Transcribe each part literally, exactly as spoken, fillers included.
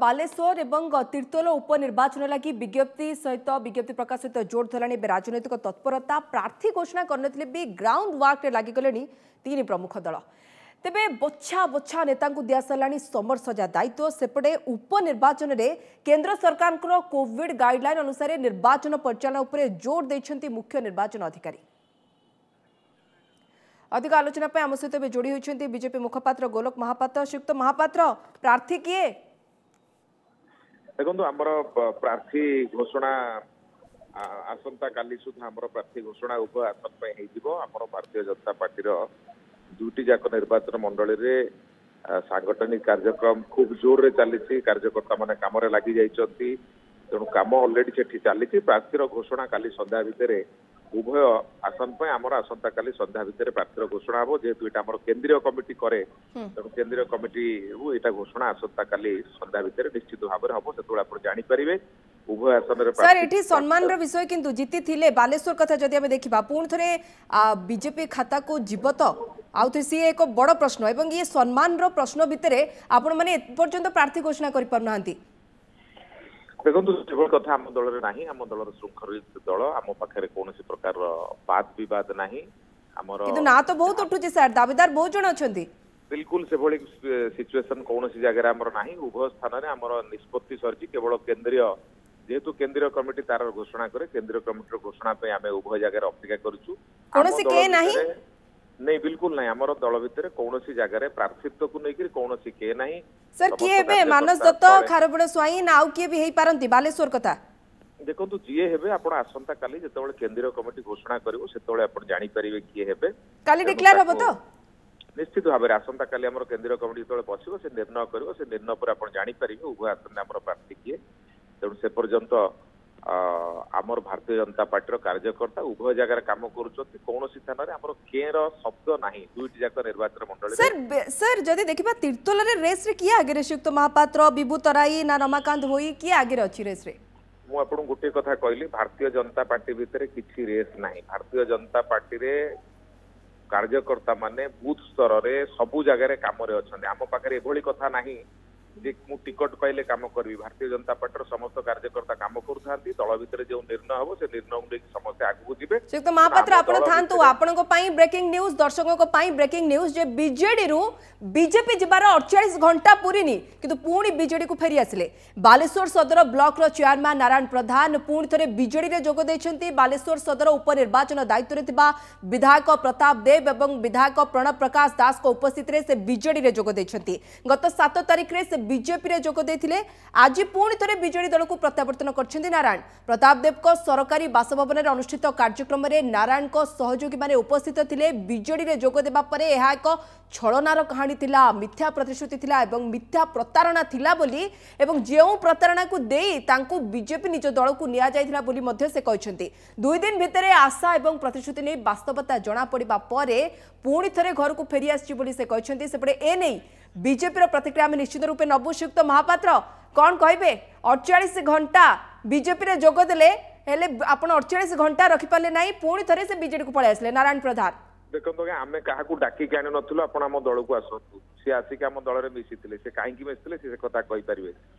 ବାଲେଶ୍ୱର ଏବଂ ତିର୍ତ୍ତୋଲ ଉପନିର୍ବାଚନ ଲାଗି ବିଜ୍ଞପ୍ତି ସହିତ ବିଜ୍ଞପ୍ତି ପ୍ରକାଶ ସହିତ ଜୋର ଧରିଲାଣି ଏବେ ରାଜନୈତିକ ତତ୍ପରତା। ପ୍ରାର୍ଥୀ ଘୋଷଣା କରିନଥିଲେ ବି ଗ୍ରାଉଣ୍ଡ ୱାର୍କରେ ଲାଗିଗଲେଣି ତିନି ପ୍ରମୁଖ ଦଳ। ତେବେ ବଛା ବଛା ନେତାଙ୍କୁ ଦିଆସରିଲାଣି ସମରସଜା ଦାୟିତ୍ୱ। ସେପଟେ ଉପନିର୍ବାଚନରେ କେନ୍ଦ୍ର ସରକାରଙ୍କର କୋଭିଡ ଗାଇଡଲାଇନ୍ ଅନୁସାରେ ନିର୍ବାଚନ ପରିଚାଳନା ଉପରେ ଜୋର ଦେଇଛନ୍ତି ମୁଖ୍ୟ ନିର୍ବାଚନ ଅଧିକାରୀ। ଅଧିକ ଆଲୋଚନା ପାଇଁ ଆମ ସହିତ ଏବେ ଯୋଡ଼ି ହୋଇଛନ୍ତି ବିଜେପି ମୁଖପାତ୍ର ଗୋଲକ ମହାପାତ୍ର। ଶ୍ରୀଯୁକ୍ତ ମହାପାତ୍ର, ପ୍ରାର୍ଥୀ କିଏ? ଦେଖନ୍ତୁ, ଆମର ପ୍ରାର୍ଥୀ ଘୋଷଣା ଆସନ୍ତା କାଲି ସୁଦ୍ଧା ଆମର ପ୍ରାର୍ଥୀ ଘୋଷଣା ଉଭୟ ଆସନ ପାଇଁ ହେଇଯିବ। ଆମର ଭାରତୀୟ ଜନତା ପାର୍ଟିର ଦୁଇଟି ଯାକ ନିର୍ବାଚନ ମଣ୍ଡଳୀରେ ସାଂଗଠନିକ କାର୍ଯ୍ୟକ୍ରମ ଖୁବ ଜୋରରେ ଚାଲିଛି, କାର୍ଯ୍ୟକର୍ତ୍ତା ମାନେ କାମରେ ଲାଗି ଯାଇଛନ୍ତି। ତେଣୁ କାମ ଅଲରେଡି ସେଠି ଚାଲିଛି। ପ୍ରାର୍ଥୀର ଘୋଷଣା କାଲି ସନ୍ଧ୍ୟା ଭିତରେ ଉଭୟ ଆସନ ପାଇଁ ଆମର ଆସନ୍ତାକାଲି ସନ୍ଧ୍ୟା ଭିତରେ ପ୍ରାର୍ଥୀର ଘୋଷଣା ହବ। ଯେହେତୁ ଏଇଟା ଆମର କେନ୍ଦ୍ରୀୟ କମିଟି କରେ, ତେଣୁ କେନ୍ଦ୍ରୀୟ କମିଟିରୁ ଏଇଟା ଘୋଷଣା ଆସନ୍ତାକାଲି ସନ୍ଧ୍ୟା ଭିତରେ ନିଶ୍ଚିତ ଭାବରେ ହବ। ସେତେବେଳେ ଆପଣ ଜାଣିପାରିବେ ଉଭୟ ଆସନରେ। ସାର୍, ଏଠି ସମ୍ମାନର ବିଷୟ କିନ୍ତୁ ଜିତିଥିଲେ ବାଲେଶ୍ୱର କଥା ଯଦି ଆମେ ଦେଖିବା, ପୁଣି ଥରେ ବିଜେପି ଖାତାକୁ ଯିବ ତ ଆଉ ଥରେ, ସିଏ ଏକ ବଡ଼ ପ୍ରଶ୍ନ। ଏବଂ ଇଏ ସମ୍ମାନର ପ୍ରଶ୍ନ ଭିତରେ ଆପଣମାନେ ଏପର୍ଯ୍ୟନ୍ତ ପ୍ରାର୍ଥୀ ଘୋଷଣା କରିପାରୁନାହାନ୍ତି। ଦେଖନ୍ତୁ, ସେଭଳି କଥା ଆମ ଦଳରେ ନାହିଁ। ଆମ ଦଳର ଶୃଙ୍ଖଳିତ ଦଳ, ଆମ ପାଖରେ କୌଣସି ପ୍ରକାରର ବାଦ ବିବାଦ ନାହିଁ ଆମର। କିନ୍ତୁ ନା ତ ବହୁତ ଉଠୁଛି ସାର୍, ଦାବିଦାର ବହୁତ ଜଣ ଅଛନ୍ତି। ବିଲକୁଲ ସେଭଳି ସିଚୁଏସନ କୌଣସି ଜାଗାରେ ଆମର ନାହିଁ। ଉଭୟ ସ୍ଥାନରେ ଆମର ନିଷ୍ପତ୍ତି ସରିଛି। କେବଳ କେନ୍ଦ୍ରୀୟ, ଯେହେତୁ କେନ୍ଦ୍ରୀୟ କମିଟି ତାର ଘୋଷଣା କରେ, କେନ୍ଦ୍ରୀୟ କମିଟିର ଘୋଷଣା ପାଇଁ ଆମେ ଉଭୟ ଜାଗାରେ ଅପେକ୍ଷା କରୁଛୁ। କୌଣସି କେ ନାହିଁ? ନାଇଁ, ବିଲକୁଲ ନାହିଁ। ଆମର ଦଳ ଭିତରେ କୌଣସି ଜାଗାରେ ପ୍ରାର୍ଥୀତ୍ୱକୁ ନେଇକରି କୌଣସି କେ ନାହିଁ। ସାର୍, କିଏ ହେବେ? ମାନସ ଦତ୍ତ, ଖାରବେଳ ସ୍ୱାଇଁ ନା ଆଉ କିଏ ବି ହେଇପାରନ୍ତି ବାଲେଶ୍ୱର କଥା? ଦେଖନ୍ତୁ, ଯିଏ ହେବେ ଆପଣ ଆସନ୍ତା କାଲି ଯେତେବେଳେ କେନ୍ଦ୍ରୀୟ କମିଟି ଘୋଷଣା କରିବ ସେତେବେଳେ ଆପଣ ଜାଣିପାରିବେ କିଏ ହେବେ। କାଲି ଡିକ୍ଲେୟାର ହବ ତ? ନିଶ୍ଚିତ ଭାବରେ ଆସନ୍ତା କାଲି ଆମର କେନ୍ଦ୍ରୀୟ କମିଟି ଯେତେବେଳେ ବସିବ ସେ ନିର୍ଣ୍ଣୟ କରିବ। ସେ ନିର୍ଣ୍ଣୟ ପରେ ଆପଣ ଜାଣିପାରିବେ ଉଭୟ ଆସନରେ ଆମର ପ୍ରାର୍ଥୀ କିଏ। ତେଣୁ ସେ ପର୍ଯ୍ୟନ୍ତ ଆମର ଭାରତୀୟ ଜନତା ପାର୍ଟିର କାର୍ଯ୍ୟକର୍ତ୍ତା ଉଭୟ ଜାଗାରେ କାମ କରୁଛନ୍ତି। କୌଣସି ସ୍ଥାନରେ ଆମର କେର ଶବ୍ଦ ନାହିଁ ଦୁଇଟି ଯାକ ନିର୍ବାଚନ ମଣ୍ଡଳୀ। ସାର୍, ସାର୍ ଯଦି ଦେଖିବା ତିର୍ତ୍ତୋଲରେ ରେସ୍ରେ କିଏ ଆଗରେ? ଶ୍ରୀଯୁକ୍ତ ମହାପାତ୍ର, ବିଭୁ ତରାଇ ନା ରମାକାନ୍ତ ଭୋଇ, କିଏ ଆଗରେ ଅଛି ରେସ୍ରେ? ମୁଁ ଆପଣଙ୍କୁ ଗୋଟିଏ କଥା କହିଲି, ଭାରତୀୟ ଜନତା ପାର୍ଟି ଭିତରେ କିଛି ରେସ୍ ନାହିଁ। ଭାରତୀୟ ଜନତା ପାର୍ଟିରେ କାର୍ଯ୍ୟକର୍ତ୍ତା ମାନେ ବୁଥ ସ୍ତରରେ ସବୁ ଜାଗାରେ କାମରେ ଅଛନ୍ତି। ଆମ ପାଖରେ ଏଭଳି କଥା ନାହିଁ ଯେ ମୁଁ ଟିକଟ ପାଇଲେ କାମ କରିବି। ଭାରତୀୟ ଜନତା ପାର୍ଟିର ସମସ୍ତ କାର୍ଯ୍ୟକର୍ତ୍ତା କାମ କରୁଥାନ୍ତି। ଦଳ ଭିତରେ ଯେଉଁ ନିର୍ଣ୍ଣୟ ହବ ସେ ନିର୍ଣ୍ଣୟକୁ ନେଇକି ସମସ୍ତେ ଆଗକୁ ଯିବେ। ଶ୍ରୀଯୁକ୍ତ ମହାପାତ୍ର, ଆପଣ ଥାନ୍ତୁ। ଆପଣଙ୍କ ପାଇଁ ବ୍ରେକିଂ ନ୍ୟୁଜ୍, ଦର୍ଶକଙ୍କ ପାଇଁ ବ୍ରେକିଂ ନ୍ୟୁଜ୍ ଯେ ବିଜେଡିରୁ ବିଜେପି ଯିବାର ଅଡ଼ଚାଳିଶ ଘଣ୍ଟା ପୁରିନି କିନ୍ତୁ ପୁଣି ବିଜେଡିକୁ ଫେରି ଆସିଲେ। ବାଲେଶ୍ୱର ସଦର ବ୍ଲକର ଚେୟାରମ୍ୟାନ୍ ନାରାୟଣ ପ୍ରଧାନ ପୁଣି ଥରେ ବିଜେଡିରେ ଯୋଗ ଦେଇଛନ୍ତି। ବାଲେଶ୍ୱର ସଦର ଉପନିର୍ବାଚନ ଦାୟିତ୍ୱରେ ଥିବା ବିଧାୟକ ପ୍ରତାପ ଦେବ ଏବଂ ବିଧାୟକ ପ୍ରଣବ ପ୍ରକାଶ ଦାସଙ୍କ ଉପସ୍ଥିତିରେ ସେ ବିଜେଡିରେ ଯୋଗ ଦେଇଛନ୍ତି। ଗତ ସାତ ତାରିଖରେ ସେ ବିଜେପିରେ ଯୋଗ ଦେଇଥିଲେ, ଆଜି ପୁଣି ଥରେ ବିଜେଡି ଦଳକୁ ପ୍ରତ୍ୟାବର୍ତ୍ତନ କରିଛନ୍ତି ନାରାୟଣ। ପ୍ରତାପ ଦେବଙ୍କ ସରକାରୀ ବାସଭବନରେ ଅନୁଷ୍ଠିତ କାର୍ଯ୍ୟକ୍ରମରେ ନାରାୟଣଙ୍କ ସହଯୋଗୀମାନେ ଉପସ୍ଥିତ ଥିଲେ। ବିଜେଡିରେ ଯୋଗ ଦେବା ପରେ ଏହା ଏକ ଛଳନାର କାହାଣୀ ଥିଲା, ମିଥ୍ୟା ପ୍ରତିଶ୍ରୁତି ଥିଲା ଏବଂ ମିଥ୍ୟା ପ୍ରତାରଣା ଥିଲା ବୋଲି ଏବଂ ଯେଉଁ ପ୍ରତାରଣାକୁ ଦେଇ ତାଙ୍କୁ ବିଜେପି ନିଜ ଦଳକୁ ନିଆଯାଇଥିଲା ବୋଲି ମଧ୍ୟ ସେ କହିଛନ୍ତି। ଦୁଇ ଦିନ ଭିତରେ ଆଶା ଏବଂ ପ୍ରତିଶ୍ରୁତି ନେଇ ବାସ୍ତବତା ଜଣାପଡ଼ିବା ପରେ ପୁଣି ଥରେ ଘରକୁ ଫେରି ଆସିଛି ବୋଲି ସେ କହିଛନ୍ତି। ସେପଟେ ଏନେଇ ବିଜେପିର ପ୍ରତିକ୍ରିୟା ଆମେ ନିଶ୍ଚିତ ରୂପେ ନବୁ। ଶ୍ରୀଯୁକ୍ତ ମହାପାତ୍ର, କ'ଣ କହିବେ? ଅଡ଼ଚାଳିଶ ଘଣ୍ଟା ବିଜେପିରେ ଯୋଗ ଦେଲେ, ହେଲେ ଆପଣ ଅଡ଼ଚାଳିଶ ଘଣ୍ଟା ରଖିପାରିଲେ ନାହିଁ, ପୁଣି ଥରେ ସେ ବିଜେଡିକୁ ପଳେଇ ଆସିଲେ ନାରାୟଣ ପ୍ରଧାନ। ଦେଖନ୍ତୁ ଆଜ୍ଞା, ଆମେ କାହାକୁ ଡାକିକି ଆଣି ନଥିଲୁ ଆପଣ ଆମ ଦଳକୁ ଆସନ୍ତୁ। ସିଏ ଆସିକି ଆମ ଦଳରେ ମିଶିଥିଲେ। ସେ କାହିଁକି ମିଶିଥିଲେ ସେ କଥା କହିପାରିବେ।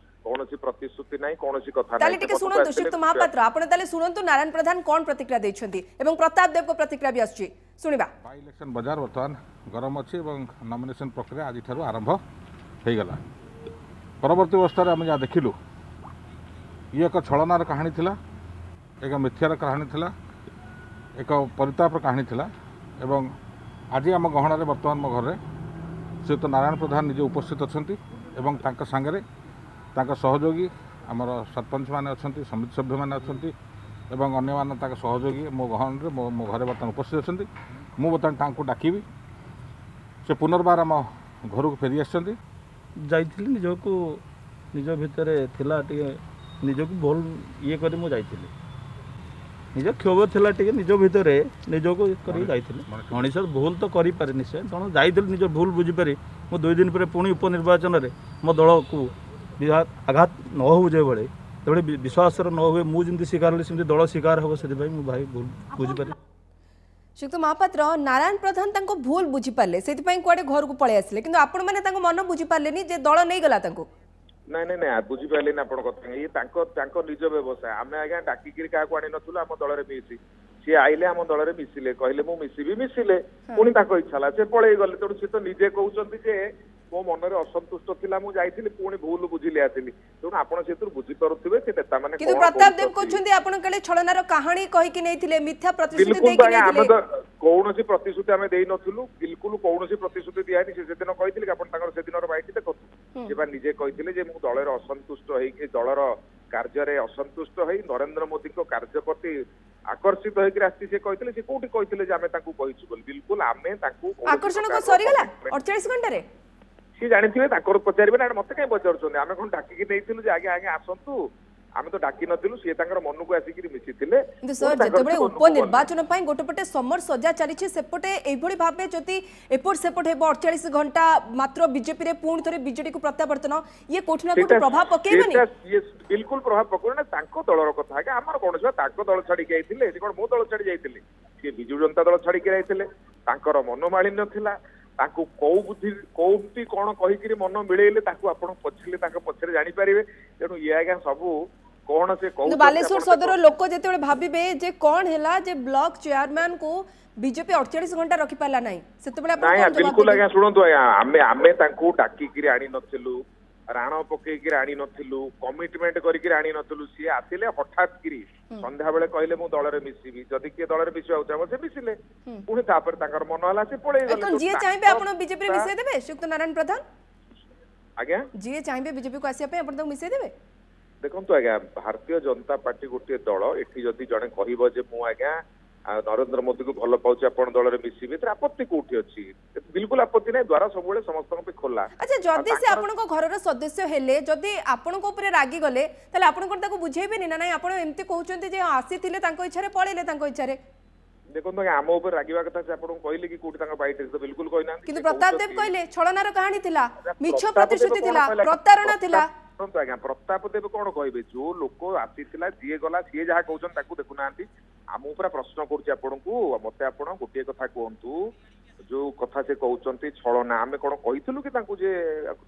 କୌଣସି ପ୍ରତିଶ୍ରୁତି ନାହିଁ, କୌଣସି କଥା। ତାହେଲେ ଟିକେ ଶୁଣନ୍ତୁ ଶ୍ରୀଯୁକ୍ତ ମହାପାତ୍ର, ଆପଣ ତାହେଲେ ଶୁଣନ୍ତୁ ନାରାୟଣ ପ୍ରଧାନ କ'ଣ ପ୍ରତିକ୍ରିୟା ଦେଇଛନ୍ତି ଏବଂ ପ୍ରତାପ ଦେବଙ୍କ ପ୍ରତିକ୍ରିୟା ବି ଆସୁଛି, ଶୁଣିବା। ବାଇ ଇଲେକ୍ସନ ବଜାର ବର୍ତ୍ତମାନ ଗରମ ଅଛି ଏବଂ ନମିନେସନ ପ୍ରକ୍ରିୟା ଆଜିଠାରୁ ଆରମ୍ଭ ହେଇଗଲା। ପରବର୍ତ୍ତୀ ଅବସ୍ଥାରେ ଆମେ ଯାହା ଦେଖିଲୁ, ଇଏ ଏକ ଛଳନାର କାହାଣୀ ଥିଲା, ଏକ ମିଥ୍ୟାର କାହାଣୀ ଥିଲା, ଏକ ପରିତାପର କାହାଣୀ ଥିଲା। ଏବଂ ଆଜି ଆମ ଗହଣରେ ବର୍ତ୍ତମାନ ମୋ ଘରେ ଶ୍ରୀଯୁକ୍ତ ନାରାୟଣ ପ୍ରଧାନ ନିଜେ ଉପସ୍ଥିତ ଅଛନ୍ତି ଏବଂ ତାଙ୍କ ସାଙ୍ଗରେ ତାଙ୍କ ସହଯୋଗୀ ଆମର ସରପଞ୍ଚମାନେ ଅଛନ୍ତି, ସମିତି ସଭ୍ୟମାନେ ଅଛନ୍ତି ଏବଂ ଅନ୍ୟମାନେ ତାଙ୍କ ସହଯୋଗୀ ମୋ ଗହଣରେ ମୋ ମୋ ଘରେ ବର୍ତ୍ତମାନ ଉପସ୍ଥିତ ଅଛନ୍ତି। ମୁଁ ବର୍ତ୍ତମାନ ତାଙ୍କୁ ଡାକିବି, ସେ ପୁନର୍ବାର ଆମ ଘରକୁ ଫେରି ଆସିଛନ୍ତି। ଯାଇଥିଲି, ନିଜକୁ ନିଜ ଭିତରେ ଥିଲା ଟିକେ, ନିଜକୁ ଭୁଲ ଇଏ କରି ମୁଁ ଯାଇଥିଲି। ନିଜ କ୍ଷୋଭ ଥିଲା ଟିକେ ନିଜ ଭିତରେ, ନିଜକୁ କରିକି ଯାଇଥିଲି। ମଣିଷ ଭୁଲ ତ କରିପାରେ ନିଶ୍ଚୟ। ତେଣୁ ଯାଇଥିଲି ନିଜ ଭୁଲ ବୁଝିପାରି ମୁଁ ଦୁଇ ଦିନ ପରେ ପୁଣି ଉପନିର୍ବାଚନରେ ମୋ ଦଳକୁ ଆଘାତ ନ ହେଉ ଯେଭଳି, ତେଭଳି ବିଶ୍ୱାସର ନ ହୁଏ, ମୁଁ ଯେମିତି ଶିକାର ହେଲି ସେମିତି ଦଳ ଶିକାର ହେବ, ସେଥିପାଇଁ ମୁଁ ଭାଇ ଭୁଲ ବୁଝିପାରି। ଶ୍ରୀଯୁକ୍ତ ମହାପାତ୍ର, ନାରାୟଣ ପ୍ରଧାନ ତାଙ୍କ ଭୁଲ ବୁଝିପାରିଲେ, ସେଥିପାଇଁ କୁଆଡ଼େ ଘରକୁ ପଳେଇ ଆସିଲେ, କିନ୍ତୁ ଆପଣମାନେ ତାଙ୍କ ମନ ବୁଝିପାରିଲେନି ଯେ ଦଳ ନେଇଗଲା ତାଙ୍କୁ। ନାଇଁ ନାଇଁ ନାଇଁ, ବୁଝିପାରିଲେନି ଆପଣ କଥା। ଇଏ ତାଙ୍କ ତାଙ୍କ ନିଜ ବ୍ୟବସାୟ। ଆମେ ଆଜ୍ଞା ଡାକିକିରି କାହାକୁ ଆଣି ନଥିଲୁ ଆମ ଦଳରେ ମିଶି। ସିଏ ଆଇଲେ, ଆମ ଦଳରେ ମିଶିଲେ, କହିଲେ ମୁଁ ମିଶିବି, ମିଶିଲେ। ପୁଣି ତାଙ୍କ ଇଚ୍ଛା ହେଲା, ସେ ପଳେଇ ଗଲେ। ତେଣୁ ସେ ତ ନିଜେ କହୁଛନ୍ତି ଯେ ମୋ ମନରେ ଅସନ୍ତୁଷ୍ଟ ଥିଲା, ମୁଁ ଯାଇଥିଲି, ପୁଣି ଭୁଲ ବୁଝିଲି ଆସିଲି। ତେଣୁ ଆପଣ ସେଥିରୁ ବୁଝିପାରୁଥିବେ ସେ ନେତାମାନେ କିନ୍ତୁ ପ୍ରତାପ ଦେବ କହୁଛନ୍ତି ଆପଣ କାଳେ ଛଳନାର କାହାଣୀ କହିକି ନେଇଥିଲେ, ମିଥ୍ୟା ପ୍ରତିଶ୍ରୁତି ଦେଇକି ନେଇଥିଲେ। ଆମେ ତ କୌଣସି ପ୍ରତିଶ୍ରୁତି ଆମେ ଦେଇନଥିଲୁ, ବିଲକୁଲ କୌଣସି ପ୍ରତିଶ୍ରୁତି ଦିଆହେଇନି। ସେ ସେଦିନ କହିଥିଲେ କି ଆପଣ ତାଙ୍କର ସେଦିନର ବାଇଟ୍ ଦେଖନ୍ତୁ, ସେ ବା ନିଜେ କହିଥିଲେ ଯେ ମୁଁ ଦଳରେ ଅସନ୍ତୁଷ୍ଟ ହେଇକି, ଦଳର କାର୍ଯ୍ୟରେ ଅସନ୍ତୁଷ୍ଟ ହେଇ, ନରେନ୍ଦ୍ର ମୋଦିଙ୍କ କାର୍ଯ୍ୟ ପ୍ରତି ଆକର୍ଷିତ ହେଇକି ଆସିଛି। ସେ କହିଥିଲେ, ସେ କୋଉଠି କହିଥିଲେ ଯେ ଆମେ ତାଙ୍କୁ କହିଛୁ ବୋଲି? ବିଲକୁଲ ଆମେ ତାଙ୍କୁ ଆକର୍ଷଣ ସରିଗଲା ଅଠଚାଳିଶ ଘଣ୍ଟାରେ। ସିଏ ଜାଣିଥିବେ, ତାଙ୍କର ପଚାରିବେ ନା, ମତେ କାହିଁ ପଚାରୁଛନ୍ତି? ଆମେ କଣ ଡାକିକି ନେଇଥିଲୁ ଯେ ଆଜ୍ଞା ଆଜ୍ଞା ଆସନ୍ତୁ? ଆମେ ତ ଡାକି ନଥିଲୁ, ସିଏ ତାଙ୍କର ମନକୁ ଆସିକିରି ମିଶିଥିଲେ। କିନ୍ତୁ ସାର୍, ଯେତେବେଳେ ଉପନିର୍ବାଚନ ପାଇଁ ଗୋଟେ ପଟେ ସମର ସଜା ଚାଲିଛି, ସେପଟେ ଏଇଭଳି ଭାବେ ଯଦି ଏପଟ ସେପଟ ହେବ, ଅଠଚାଳିଶ ଘଣ୍ଟା ମାତ୍ର ବିଜେପିରେ ପୁଣି ଥରେ ବିଜେଡିକୁ ପ୍ରତ୍ୟାବର୍ତ୍ତନ, ଇଏ କୋଉଠି ନା କୋଉଠି ପ୍ରଭାବ ପକେଇବନି? ବିଲକୁଲ ପ୍ରଭାବ ପକେଇବନି ନା। ତାଙ୍କ ଦଳର କଥା ଆଜ୍ଞା, ଆମର କୌଣସି ତାଙ୍କ ଦଳ ଛାଡିକି ଯାଇଥିଲେ, ସେ କଣ ମୋ ଦଳ ଛାଡି ଯାଇଥିଲେ? ସିଏ ବିଜୁ ଜନତା ଦଳ ଛାଡିକି ଯାଇଥିଲେ। ତାଙ୍କର ମନୋମାଳିନ୍ୟ ଥିଲା। ତାଙ୍କୁ କୋଉ ବୁଦ୍ଧି କୋଉଠି କଣ କହିକିରି ମନ ମିଳେଇଲେ, ତାକୁ ଆପଣ ପଛିଲେ ତାଙ୍କ ପଛରେ ଜାଣିପାରିବେ। ତେଣୁ ଇଏ ଆଜ୍ଞା ସବୁ କଣ ସେ କହୁଛନ୍ତି। ବାଲେଶ୍ୱର ସଦର ଲୋକ ଯେତେବେଳେ ଭାବିବେ ଯେ କଣ ହେଲା ଯେ ବ୍ଲକ ଚେୟାରମ୍ୟାନ କୁ ବିଜେପି ଅଠଚାଳିଶ ଘଣ୍ଟା ରଖିପାରିଲା ନାହିଁ, ସେତେବେଳେ ଆପଣ ବିଲକୁଲ ଆଜ୍ଞା ଶୁଣନ୍ତୁ ଆଜ୍ଞା, ଆମେ ଆମେ ତାଙ୍କୁ ଡାକିକିରି ଆଣି ନଥିଲୁ, ରାଣ ପକେଇକିରି ଆଣି ନଥିଲୁ, କମିଟମେଣ୍ଟ କରିକିରି ଆଣି ନଥିଲୁ। ସିଏ ଆସିଲେ ହଠାତ୍ କିରି ସନ୍ଧ୍ୟାବେଳେ, କହିଲେ ମୁଁ ଦଳରେ ମିଶିବି। ଯଦି କିଏ ଦଳରେ ମିଶିବାକୁ ଚାହିଁବ, ସେ ମିଶିଲେ, ପୁଣି ତାପରେ ତାଙ୍କର ମନ ହେଲା ସେ ପଳେଇ ଗଲେ। ଯିଏ ଚାହିଁବେ ଆପଣ ବିଜେପିରେ ମିଶେଇ ଦେବେ ଶ୍ରୀଯୁକ୍ତ ନାରାୟଣ ପ୍ରଧାନ? ଆଜ୍ଞା, ଯିଏ ଚାହିଁବେ ବିଜେପିକୁ ଆସିବା ପାଇଁ ଆପଣ ତାକୁ ମିଶେଇ ଦେବେ? ଦେଖନ୍ତୁ ଆଜ୍ଞା, ଭାରତୀୟ ଜନତା ପାର୍ଟି ଗୋଟିଏ ଦଳ। ଏଠି ଯଦି ଜଣେ କହିବ ଯେ ମୁଁ ଆଜ୍ଞା ନରେନ୍ଦ୍ର ମୋଦିକୁ ଭଲ ପାଉଛି, ଆପଣ ଦଳରେ ମିଶିବେ, ଏଥିରେ ଆପତ୍ତି କୋଉଠି ଅଛି? ବିଲକୁଲ ଆପତ୍ତି ନାହିଁ। ଦ୍ୱାର ସବୁବେଳେ ସମସ୍ତଙ୍କ ପାଇଁ ଖୋଲା। ଆଚ୍ଛା, ଯଦି ସେ ଆପଣଙ୍କ ଘରର ସଦସ୍ୟ ହେଲେ, ଯଦି ଆପଣଙ୍କ ଉପରେ ରାଗିଗଲେ, ତାହେଲେ ଆପଣ କଣ ତାକୁ ବୁଝେଇବେନି ନା ନାଇଁ ଆପଣ ଏମିତି କହୁଛନ୍ତି ଯେ ଆସିଥିଲେ ତାଙ୍କ ଇଚ୍ଛାରେ, ପଳେଇଲେ ତାଙ୍କ ଇଚ୍ଛାରେ? ଦେଖନ୍ତୁ ଆଜ୍ଞା, ଆମ ଉପରେ ରାଗିବା କଥା ସେ ଆପଣଙ୍କୁ କହିଲେ କି କୋଉଠି ତାଙ୍କ ବାଇଟ୍? ତ ବିଲକୁଲ କହିନାହାନ୍ତି। କିନ୍ତୁ ପ୍ରତାପ ଦେବ କହିଲେ ଛଳନାର କାହାଣୀ ଥିଲା, ମିଛ ପ୍ରତିଶ୍ରୁତି ଥିଲା, ପ୍ରତାରଣା ଥିଲା। ଶୁଣନ୍ତୁ ଆଜ୍ଞା, ପ୍ରତାପ ଦେବ କଣ କହିବେ? ଯୋଉ ଲୋକ ଆସିଥିଲା, ଯିଏ ଗଲା, ସିଏ ଯାହା କହୁଛନ୍ତି ତାକୁ ଦେଖୁନାହାନ୍ତି। ମୁଁ ପୁରା ପ୍ରଶ୍ନ କରୁଛି ଆପଣଙ୍କୁ, ମତେ ଆପଣ ଗୋଟିଏ କଥା କୁହନ୍ତୁ, ଯୋଉ କଥା ସେ କହୁଛନ୍ତି ଛଳନା, ଆମେ କଣ କହିଥିଲୁ କି ତାଙ୍କୁ ଯେ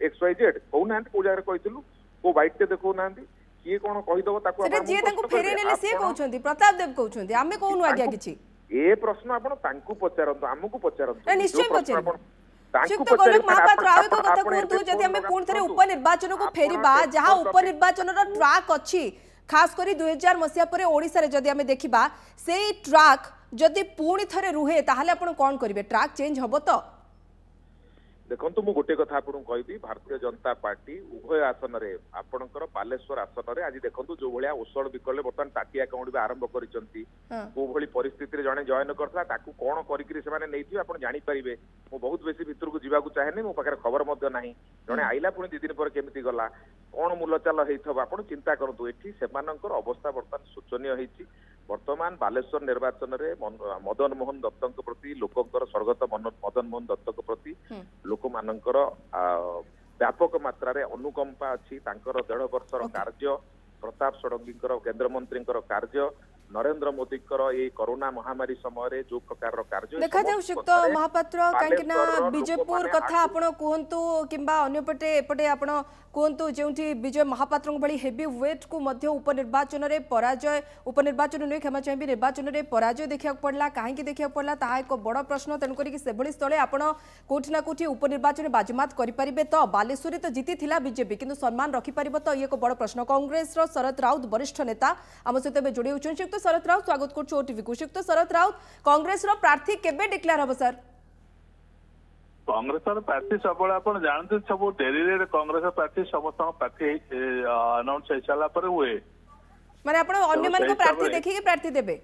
ଏକ୍ସ ୱାଇ ଜେଡ୍? କହୁନାହାନ୍ତି କୋଉ ଜାଗାରେ କହିଥିଲୁ, କୋଉ ବାଇଟ୍ ଟେ ଦେଖଉନାହାନ୍ତି। କିଏ କଣ କହିଦବ ତାକୁ ଯିଏ ତାଙ୍କୁ ଫେରେଇ ନେଲେ ସିଏ କହୁଛନ୍ତି, ପ୍ରତାପ ଦେବ କହୁଛନ୍ତି, ଆମେ କହୁନୁ ଆଜ୍ଞା କିଛି। ଏ ପ୍ରଶ୍ନ ଆପଣ ତାଙ୍କୁ ପଚାରନ୍ତୁ, ଆମକୁ ପଚାରନ୍ତୁ। ନିଶ୍ଚୟ ପଚାରିବୁ। ଶ୍ରୀଯୁକ୍ତ ଗୋଲକ ମହାପାତ୍ର, ଆଉ ଏକ କଥା କୁହନ୍ତୁ, ଯଦି ଆମେ ପୁଣି ଥରେ ଉପନିର୍ବାଚନକୁ ଫେରିବା, ଯାହା ଉପନିର୍ବାଚନର ଟ୍ରାକ୍ ଅଛି, ଖାସ କରି ଦୁଇ ହଜାର ମସିହା ପରେ ଓଡ଼ିଶାରେ ଯଦି ଆମେ ଦେଖିବା, ସେଇ ଟ୍ରାକ୍ ଯଦି ପୁଣି ଥରେ ରୁହେ ତାହେଲେ ଆପଣ କ'ଣ କରିବେ? ଟ୍ରାକ୍ ଚେଞ୍ଜ ହବ ତ? ଦେଖନ୍ତୁ, ମୁଁ ଗୋଟେ କଥା ଆପଣଙ୍କୁ କହିବି, ଭାରତୀୟ ଜନତା ପାର୍ଟି ଉଭୟ ଆସନରେ, ଆପଣଙ୍କର ବାଲେଶ୍ୱର ଆସନରେ ଆଜି ଦେଖନ୍ତୁ ଯୋଉ ଭଳିଆ ଓଷଣ ବିକଳରେ ବର୍ତ୍ତମାନ ତାଟିଆ କାଉଁଡ଼ିବା ଆରମ୍ଭ କରିଛନ୍ତି, କୋଉ ଭଳି ପରିସ୍ଥିତିରେ ଜଣେ ଜଏନ କରିଥିଲା, ତାକୁ କଣ କରିକିରି ସେମାନେ ନେଇଥିବେ ଆପଣ ଜାଣିପାରିବେ। ମୁଁ ବହୁତ ବେଶୀ ଭିତରକୁ ଯିବାକୁ ଚାହେଁନି, ମୋ ପାଖରେ ଖବର ମଧ୍ୟ ନାହିଁ। ଜଣେ ଆଇଲା, ପୁଣି ଦି ଦିନ ପରେ କେମିତି ଗଲା, କଣ ମୂଲଚାଲ ହେଇଥିବ ଆପଣ ଚିନ୍ତା କରନ୍ତୁ। ଏଠି ସେମାନଙ୍କର ଅବସ୍ଥା ବର୍ତ୍ତମାନ ଶୋଚନୀୟ ହେଇଛି। ବର୍ତ୍ତମାନ ବାଲେଶ୍ୱର ନିର୍ବାଚନରେ ମଦନ ମୋହନ ଦତ୍ତଙ୍କ ପ୍ରତି ଲୋକଙ୍କର, ସ୍ୱର୍ଗତ ମଦନ ମୋହନ ଦତ୍ତଙ୍କ ପ୍ରତି ଲୋକମାନଙ୍କର ବ୍ୟାପକ ମାତ୍ରାରେ ଅନୁକମ୍ପା ଅଛି। ତାଙ୍କର ଦେଢ ବର୍ଷର କାର୍ଯ୍ୟ, ପ୍ରତାପ ଷଡ଼ଙ୍ଗୀଙ୍କର କେନ୍ଦ୍ରମନ୍ତ୍ରୀଙ୍କର କାର୍ଯ୍ୟ, ନରେନ୍ଦ୍ର ମୋଦିଙ୍କର ଏଇ କରୋନା ମହାମାରୀ ସମୟରେ ଯୋଉ ପ୍ରକାରର କାର୍ଯ୍ୟ ଦେଖାଯାଉ। ଶ୍ରୀଯୁକ୍ତ ମହାପାତ୍ର, କାହିଁକି ନା ବିଜେପୁର କଥା ଆପଣ କୁହନ୍ତୁ କିମ୍ବା ଅନ୍ୟପଟେ ଏପଟେ ଆପଣ କୁହନ୍ତୁ, ଯେଉଁଠି ବିଜୟ ମହାପାତ୍ରଙ୍କ ଭଳି ହେଭି ୱେଟ୍କୁ ମଧ୍ୟ ଉପନିର୍ବାଚନରେ ପରାଜୟ, ଉପନିର୍ବାଚନ ନୁହେଁ କ୍ଷମା ଚାହିଁବି, ନିର୍ବାଚନରେ ପରାଜୟ ଦେଖିବାକୁ ପଡ଼ିଲା, କାହିଁକି ଦେଖିବାକୁ ପଡ଼ିଲା ତାହା ଏକ ବଡ଼ ପ୍ରଶ୍ନ। ତେଣୁକରିକି ସେଭଳି ସ୍ଥଳେ ଆପଣ କୋଉଠି ନା କୋଉଠି ଉପନିର୍ବାଚନରେ ବାଜିମାତ କରିପାରିବେ ତ? ବାଲେଶ୍ୱରରେ ତ ଜିତିଥିଲା ବିଜେପି, କିନ୍ତୁ ସମ୍ମାନ ରଖିପାରିବ ତ, ଇଏ ଏକ ବଡ଼ ପ୍ରଶ୍ନ। କଂଗ୍ରେସର ଶରତ ରାଉତ ବରିଷ୍ଠ ନେତା ଆମ ସହିତ ଏବେ ଯୋଡ଼ି ହେଉଛନ୍ତି। ଶ୍ରୀଯୁକ୍ତ ଶରତ ରାଉତ, ସ୍ୱାଗତ କରୁଛୁ ଓଟିଭିକୁ। ଶ୍ରୀଯୁକ୍ତ ଶରତ ରାଉତ, କଂଗ୍ରେସର ପ୍ରାର୍ଥୀ କେବେ ଡିକ୍ଲେୟାର ହେବ ସାର୍? କଂଗ୍ରେସର ପ୍ରାର୍ଥୀ ସବୁବେଳେ ଆପଣ ଜାଣନ୍ତି ସବୁ ଡେରିରେ କଂଗ୍ରେସ ପ୍ରାର୍ଥୀ, ସମସ୍ତଙ୍କ ପ୍ରାର୍ଥୀ ଆନାଉନ୍ସ ହେଇସାରିଲା ପରେ ହୁଏ। ମାନେ ଆପଣ ଅନ୍ୟମାନଙ୍କ ପ୍ରାର୍ଥୀ ଦେଖିକି ପ୍ରାର୍ଥୀ ଦେବେ?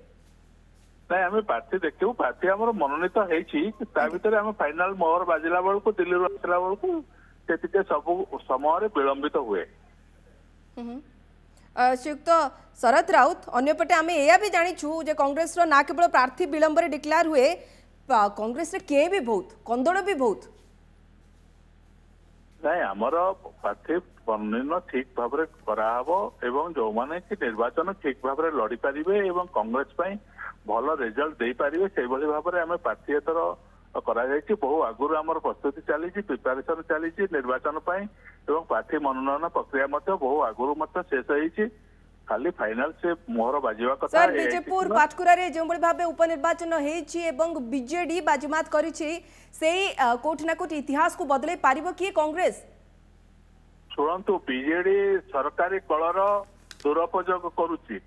ନାଇଁ, ଆମେ ପ୍ରାର୍ଥୀ ଦେଖିବୁ। ପ୍ରାର୍ଥୀ ଆମର ମନୋନୀତ ହେଇଛି, ତା ଭିତରେ ଆମେ ଫାଇନାଲ ମୋହର ବାଜିଲା ବେଳକୁ, ଦିଲ୍ଲୀରୁ ଆସିଲା ବେଳକୁ ସେ ଟିକେ ସବୁ ସମୟରେ ବିଳମ୍ବିତ ହୁଏ। ଶ୍ରୀଯୁକ୍ତ ଶରତ ରାଉତ, ଅନ୍ୟପଟେ ଆମେ ଏଇଆ ବି ଜାଣିଛୁ ଯେ କଂଗ୍ରେସର ନା କେବଳ ପ୍ରାର୍ଥୀ ବିଳମ୍ବରେ ଡିକ୍ଲେୟାର ହୁଏ, କଂଗ୍ରେସରେ କିଏ ବି ବହୁତ କନ୍ଦଳ ବି ବହୁତ। ନାଇଁ, ଆମର ପ୍ରାର୍ଥୀ ମନୋନୟନ ଠିକ ଭାବରେ କରାହବ ଏବଂ ଯୋଉମାନେ କି ନିର୍ବାଚନ ଠିକ ଭାବରେ ଲଢିପାରିବେ ଏବଂ କଂଗ୍ରେସ ପାଇଁ ଭଲ ରେଜଲ୍ଟ ଦେଇପାରିବେ, ସେଇଭଳି ଭାବରେ ଆମେ ପ୍ରାର୍ଥୀ ଏଥର କରାଯାଇଛି। ବହୁ ଆଗରୁ ଆମର ପ୍ରସ୍ତୁତି ଚାଲିଛି, ପ୍ରିପାରେସନ ଚାଲିଛି ନିର୍ବାଚନ ପାଇଁ ଏବଂ ପ୍ରାର୍ଥୀ ମନୋନୟନ ପ୍ରକ୍ରିୟା ମଧ୍ୟ ବହୁ ଆଗରୁ ମଧ୍ୟ ଶେଷ ହେଇଛି। ଖାଲି ଫାଇନାଲ ସେ ମୋହର ବାଜିବା କଥା। ସାର୍, ବିଜେପୁର ପାଟକୁରାରେ ଯେଉଁଭଳି ଭାବେ ଉପନିର୍ବାଚନ ହେଇଛି ଏବଂ ବିଜେଡି ବାଜିମାତ କରିଛି, ସେଇ କୋଉଠି ନା କୋଉଠି ଇତିହାସକୁ ବଦଳେଇ ପାରିବ କି କଂଗ୍ରେସ? ଶୁଣନ୍ତୁ, ବିଜେଡି ସରକାରୀ କଳର ଦୁରୁପଯୋଗ କରୁଛି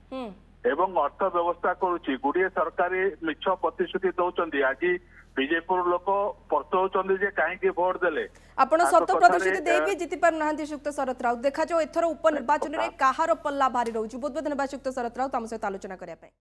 ଏବଂ ଅର୍ଥ ବ୍ୟବସ୍ଥା କରୁଛି, ଗୁଡିଏ ସରକାରୀ ମିଛ ପ୍ରତିଶ୍ରୁତି ଦଉଛନ୍ତି। ଆଜି ବିଜେପୁର ଲୋକ ପସ୍ତଉଛନ୍ତି ଯେ କାହିଁକି ଭୋଟ ଦେଲେ। ଆପଣ ସତ ପ୍ରତିଶ୍ରୁତି ଦେଇ ବି ଜିତି ପାରୁନାହାନ୍ତି। ଶ୍ରୀଯୁକ୍ତ ଶରତ ରାଉତ, ଦେଖାଯାଉ ଏଥର ଉପନିର୍ବାଚନରେ କାହାର ପଲ୍ଲା ଭାରି ରହୁଛି। ବହୁତ ବହୁତ ଧନ୍ୟବାଦ ଶ୍ରୀଯୁକ୍ତ ଶରତ ରାଉତ ଆମ ସହିତ ଆଲୋଚନା କରିବା ପାଇଁ।